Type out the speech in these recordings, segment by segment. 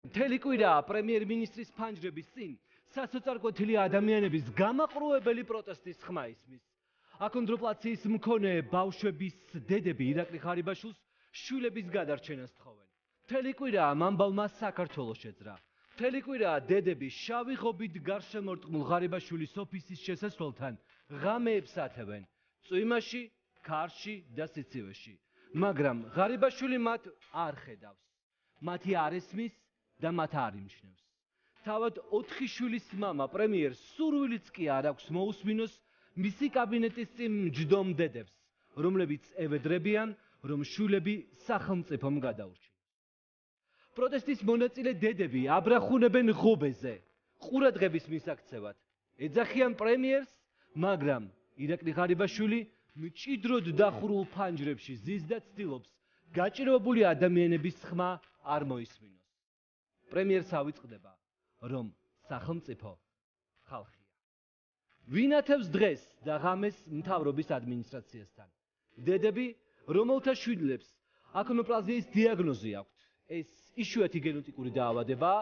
მთელი კვირა პრემიერ-მინისტრის ფანჯრების წინ სასოწარკვეთილი ადამიანების გამაყრუებელი პროტესტის ხმა ისმის. აკონდროპლაციის მქონე ბავშვების დედები ირაკლი ღარიბაშვილს შვილების გადარჩენას თხოვენ. მთელი კვირა ამ ამბავმა საქართველოს შეძრა. მთელი კვირა დედები შავი ღობით გარშემორტყმულ ღარიბაშვილის ოფისის შესასვლელთან ღამეებს ათევენ წვიმაში, ქარში და სიცივეში. მაგრამ ღარიბაშვილი მათ არ ხედავს. მათი არ ესმის და მათ არ იმჩნევს. თავად 4 შვილის მამა პრემიერს სურვილიც კი არ აქვს მოусმინოს მისი კაბინეტის წინ მჯდომ დედებს, რომლებიც ევედრებიან, რომ შვილები სახელმწიფომ გადაურჩინოს. პროტესტის მონაწილე დედები აბრახუნებენ ღობეზე, ყურადღების მისაქცევად. ეძახიან პრემიერს, მაგრამ ირაკლი ღარიბაშვილი მჭიდროდ დახურულ ფანჯრებში ზის და ცდილობს გაჭირვებული ადამიანების ხმა არ მოისმინოს. პრემიერს ავიწყდება, რომ სახელმწიფო ხალხია. ვინ ათევს დღეს და ღამეს მთავრობის ადმინისტრაციასთან? დედები, რომელთა შვილებს აკონოპლაზიის დიაგნოზი აქვთ. ეს იშვიათი გენეტიკური დაავადებაა,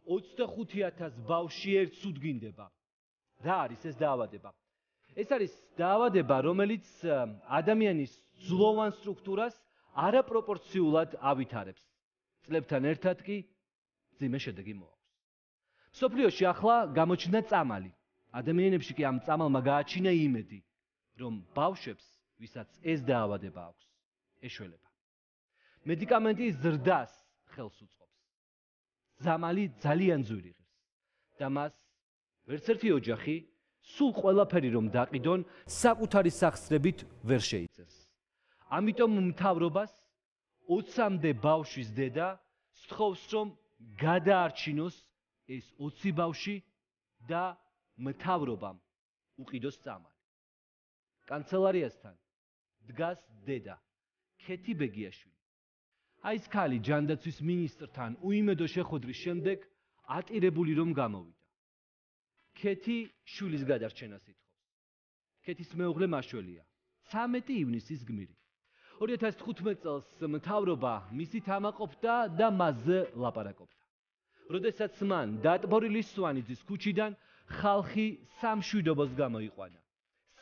25,000 ბავშვი ერთ სუდგინდება. რა არის ეს დაავადება? ეს არის დაავადება, რომელიც ადამიანის ძვლოვან სტრუქტურას არაპროპორციულად ავითარებს. წლებთან ერთად კი ძიმე შედეგი მოაქვს. მსოფლიოში ახლა გამოჩნდა წამალი. ადამიანებში კი ამ წამალმა გააჩინა იმედი, რომ ბავშვებს, ვისაც ეს დაავადება აქვს, ეშველება. მედიკამენტი ზრდას ხელს უწყობს. წამალი ძალიან ძვირი ღირს და მას ვერც ერთი ოჯახი სულ ყველაფერი რომ დაყიდონ, საკუთარი სახსრებით ვერ შეიწევს. ამიტომ მთავრობას 20-მდე ბავშვის დედა სთხოვს, რომ გადაარჩინოს ეს 20 ბავშვი და მთავრობამ უყიდოს წამალი. კანცელარიასთან დგას დედა ქეთი ბეგიაშვილი. აი ეს ქალი ჯანდაცვის მინისტრთან უიმედო შეხვედრის შემდეგ ატირებული რომ გამოვიდა. ქეთი შვილის გადარჩენას ითხოვს. ქეთის მეუღლე მაშველია. 13 ივნისის გმირი. 2015 წელს მთავრობა მისით ამაყობდა და მასზე ლაპარაკობდა. როდესაც მან დატბორილი სვანიძის ქუჩიდან ხალხი სამშვიდობოს გამოიყვანა.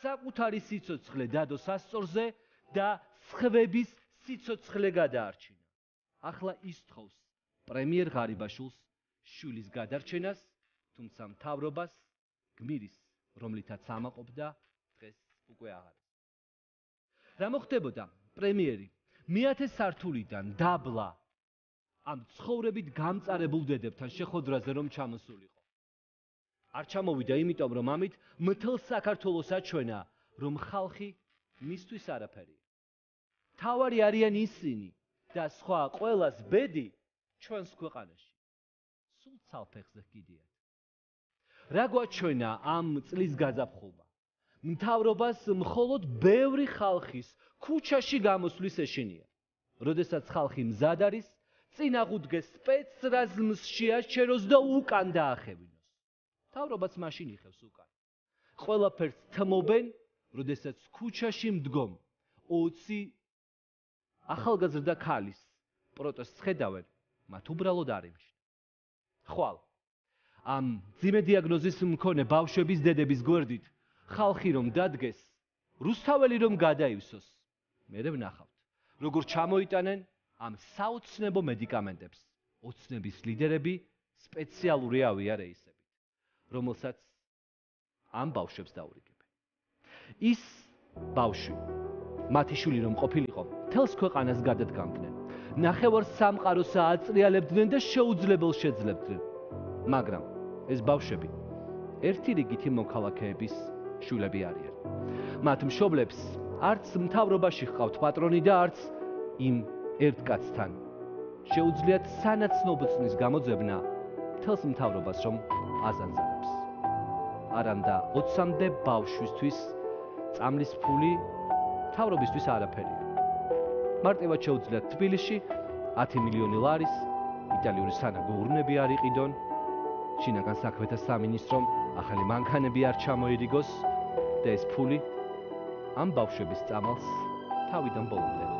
საკუთარი სიცოცხლე დადო სასწორზე და სხვების სიცოცხლე გადაარჩინა. ახლა ის თხოვს პრემიერ ღარიბაშვილს შვილის გადარჩენას, თუმცა მთავრობას გმირის, რომლითაც ამაყობდა, დღეს უკვე აღარ. რა მოხდებოდა? პრემიერი მე-10 სართულიდან დაბლა ამ ცხოვრებით გამწარებულ დედებთან შეხვედრაზე რომ ჩამოსულიყო. არ ჩამოვიდა იმიტომ, რომ ამით მთელ საქართველოს აჩვენა, რომ ხალხი მისთვის არაფერია. თავარი არიან ისინი და სხვა ყველას ბედი ჩვენს ქვეყანაში. სულ ცალფეხზე გიდიათ. რა გვაჩვენა ამ წლის გაზაფხულმა? მთავრობას მხოლოდ ბევრი ხალხის ქუჩაში გამოსვლის ეშინია. როდესაც ხალხი მზად არის, წინ აღუდგეს სპეცრაზმს შეაჩეროს და უკან დაახევინოს. მთავრობაც მაშინ იხევს უკან. ყველაფერს თმობენ, როდესაც ქუჩაში მდგომ 20 ახალგაზრდა ქალის პროტესტს ხედავენ, მათ უბრალოდ არ იმჩნევთ. ხვალ ამ ძიმე დიაგნოზის მქონე ბავშვების დედების გვერდით ხალხი რომ დადგეს, რუსთაველი რომ გადაივსოს, მერე ვნახავთ, როგორ ჩამოიტანენ ამ საოცნებო მედიკამენტებს ოცნების ლიდერები სპეციალური ავიარეისებით, რომელსაც ამ ბავშვებს დაურიგებენ. ის ბავშვი, მათი შვილი რომ ყოფილიყო, მთელს ქვეყანას გადადგამდნენ. ნახევარ სამყაროს ააწრიალებდნენ და შეუძლებელს შეძლებდნენ. მაგრამ ეს ბავშვები ერთი რიგითი მოქალაქეების შვილები არიან. მათ მშობლებს არც მთავრობაში ჰყავთ პატრონი და არც იმ ერთ კაცთან. შეუძლიათ სანაცნობწნის გამოძებნა მთელს მთავრობას რომ აზანზარებს. არამდა 20-მდე ბავშვისთვის წამლის ფული მთავრობისთვის არაფერია. მარტივად შეუძლიათ თბილისში 10 მილიონი ლარის იტალიური სანაგო ურნები არ იყიდონ, შინაგან საქმეთა სამინისტრომ ახალი მანქანები არ ჩამოირიგოს და ეს ფული ამ ბავშვების წამალს თავიდან ბოლომდე